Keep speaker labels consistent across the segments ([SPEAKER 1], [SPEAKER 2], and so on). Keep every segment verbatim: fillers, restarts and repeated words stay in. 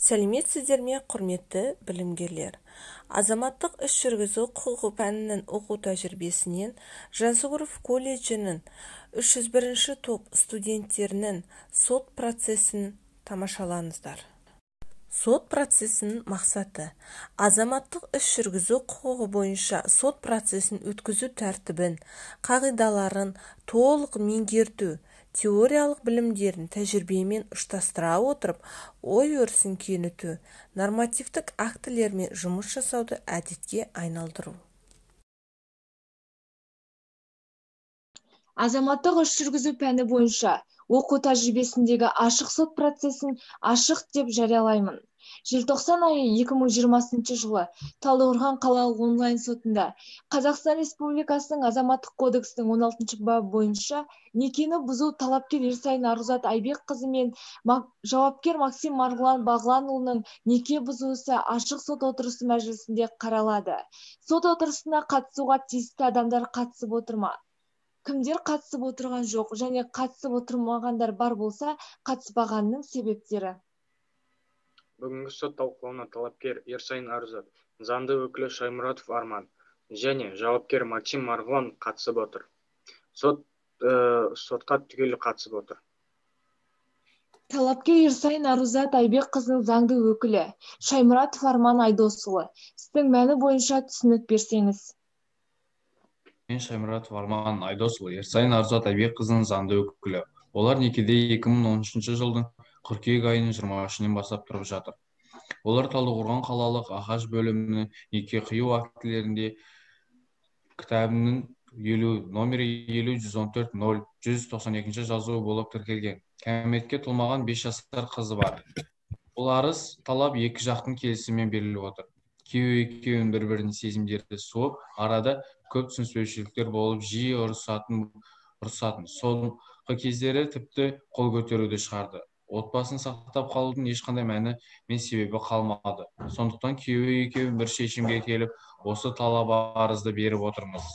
[SPEAKER 1] Сәлеметсіздер ме, құрметті білімгерлер? Азаматтық іс жүргізу құқығы пәнінің оқу тәжірибесінен Жансүгіров колледжінің үш жүз бірінші топ студенттерінің сот процесін тамашалаңыздар. Сот процесінің мақсаты – азаматтық іс жүргізу құқығы бойынша сот процесін өткізу тәртібін, қағидаларын толық меңгерту, теориялық білімдерін тәжірибемен ұштастыра отырып, ой өрісін кеңейту, нормативтік актілермен жұмыс жасауды әдетке айналдыру.
[SPEAKER 2] Азаматтық іс жүргізу пәні бойынша оқу тәжірибесіндегі ашық сот процесін ашық деп жариялаймын. Желтоқсан айы екі мың жиырмасыншы жылы Талдықорған қалалық онлайн сотында Қазақстан Республикасының Азаматтық кодексінің он алтыншы бабы бойынша некені бұзу талапкер Ерсайын Арузат Айбекқызы мен жауапкер Максим Марғұлан Бағланұлының неке бұзуысы ашық сот отырысы мәжілісінде қаралады. Сот отырысына қатысуға тиісті адамдар қатысып отыр ма? Кімдер қатысып отырған жоқ және қатысып отырмағандар бар болса, қатыспағанның себептері?
[SPEAKER 3] Бүгінгі сот талқылауына талапкер Ерсайын Арузат, заңды өкілі Шаймұратов Арман және жауапкер Максим Марғұлан қатысып отыр. Сот ә, сотқа түгелі қатысып отыр.
[SPEAKER 2] Талапкер Ерсайын Арузат Айбекқызының заңды өкілі Шаймұратов Арман Айдосұлы, істің мәні бойынша түсінік берсеңіз.
[SPEAKER 4] Мен Шаймұратов Арман Айдосұлы, Ерсайын Арузат Айбекқызының заңды өкілі. Олар некеде екі мың он үшінші жылдың қыркүйек айының жиырма үшінен бастап тұрып жатыр. Олар Талдықорған қалалық ағаш бөлімінің неке қию актілерінде кітабының номері елу жүз он төрт нөл жүз тоқсан екінші жазуы болып тіркелген. Кәмелетке толмаған бес жасар қызы бар. Бұл арыз талап екі жақтың келісімімен беріліп отыр. Күйеуі екеуінің бір-бірінің сезімдері суып, арада көп түсініспеушіліктер болып, жиі ұрысатын, ұрысатын. Соңғы кездері тіпті қол көтеруді шығарды. Отбасын сақтап қалудың ешқандай мәні мен себебі қалмады. Сондықтан күйеуі екеуі бір шешімге келіп, осы талап арызды беріп отырмыз.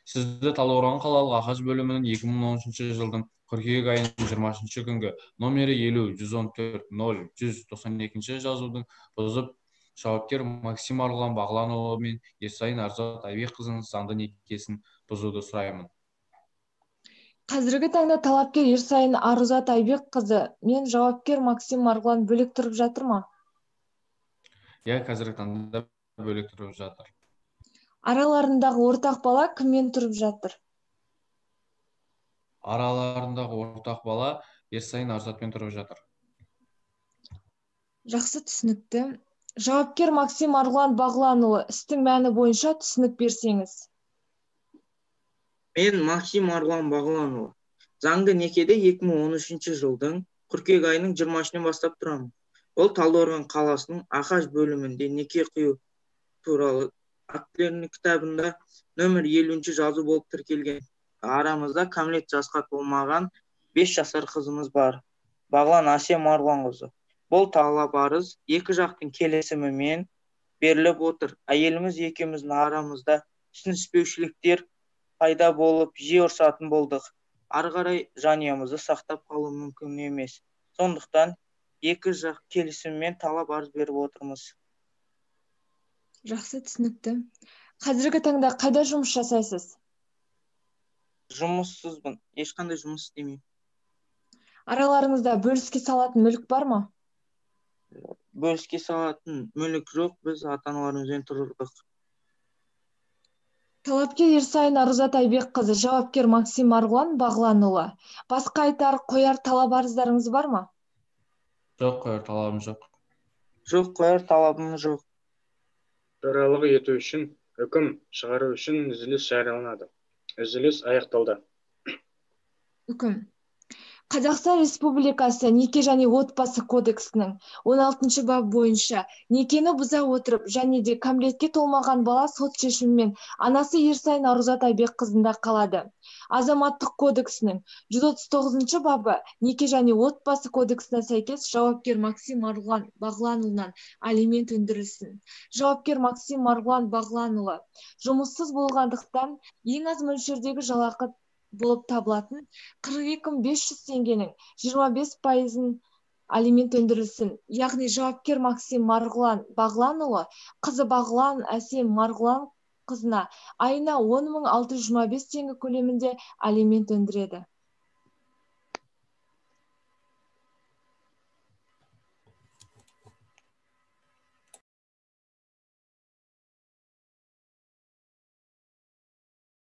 [SPEAKER 4] Сізді Талдықорған қалалық ағаш бөлімінің екі мың он үшінші жылдың қыркүйек айының жиырма үшінші күнгі номері елу жүз он төрт нөл жүз тоқсан екінші жазудың бұзып, жауапкер Максим Марғұлан Бағланұлы мен Ерсайын Арузат Айбекқызының заңды некесін бұзуды сұраймын.
[SPEAKER 2] Қазіргі таңда талапкер Ерсайын Арузат Айбекқызы мен жауапкер Максим Марғұлан бөлек тұрып жатыр ма?
[SPEAKER 4] Иә, қазіргі таңда бөлек тұрып жатыр.
[SPEAKER 2] Араларындағы ортақ бала кіммен тұрып жатыр?
[SPEAKER 4] Араларындағы ортақ бала Ерсайын Арузатпен тұрып жатыр.
[SPEAKER 2] Жақсы, түсінікті. Жауапкер Максим Марғұлан Бағланұлы, істің мәні бойынша түсінік берсеңіз.
[SPEAKER 5] Мен Максим Марғұлан Бағланұлы. Заңды некеде екі мың он үшінші жылдың қыркүйек айының жиырма үшінен бастап тұрамын. Ол Талдықорған қаласының ағаш бөлімінде неке қию туралы актілерінің кітабында нөмір елуінші жазу болып тіркелген. Арамызда кәмелет жасқа толмаған бес жасар қызымыз бар. Бағлан Асем Марғұланқызы. Бұл талап арыз екі жақтың келісімімен беріліп отыр. Әйеліміз екеуміздің арамызда түсініспеушіліктер пайда болып, жиі ұрысатын болдық. Ары қарай жанұямызды сақтап қалу мүмкін емес. Сондықтан екі жақ келісімімен талап арыз беріп отырмыз.
[SPEAKER 2] Жақсы, түсінікті. Қазіргі таңда қайда жұмыс жасайсыз?
[SPEAKER 5] Жұмыссызбын, ешқандай жұмыс істемеймін.
[SPEAKER 2] Араларыңызда бөліске салатын мүлік бар ма?
[SPEAKER 5] Бөліске салатын мүлік жоқ, біз ата-аналарымызбен тұрдық.
[SPEAKER 2] Талапкер Ерсайын Арузат Айбекқызы, жауапкер Максим Марғұлан Бағланұлы. Басқа айтар, қояр талап арыздарыңыз бар ма?
[SPEAKER 4] Жоқ, қояр талабым жоқ.
[SPEAKER 5] Жоқ, қояр талабым жоқ.
[SPEAKER 3] Төрағалық ету үшін, үкім шығару үшін үзіліс жарияланады. Үзіліс аяқталды.
[SPEAKER 2] Үкім. Қазақстан Республикасы неке және отбасы кодексінің он алтыншы бабы бойынша некені бұза отырып және де кәмелетке толмаған бала сот шешімімен анасы Ерсайын Арузат Айбекқызында қалады. Азаматтық кодексінің жүз отыз тоғызыншы бабы неке және отбасы кодексіне сәйкес жауапкер Максим Марғұлан Бағланұлынан алимент өндірілсін. Жауапкер Максим Марғұлан Бағланұлы жұмыссыз болғандықтан ең аз мөлшердегі жалақы болып табылатын қырық екі мың бес жүз теңгенің жиырма бес пайызын алимент өндірілсін. Яғни жауапкер Максим Марғұлан Бағланұлы қызы Бағлан Әсем Марғұлан қызына айына он мың алты жүз жиырма бес теңге көлемінде алимент өндіреді.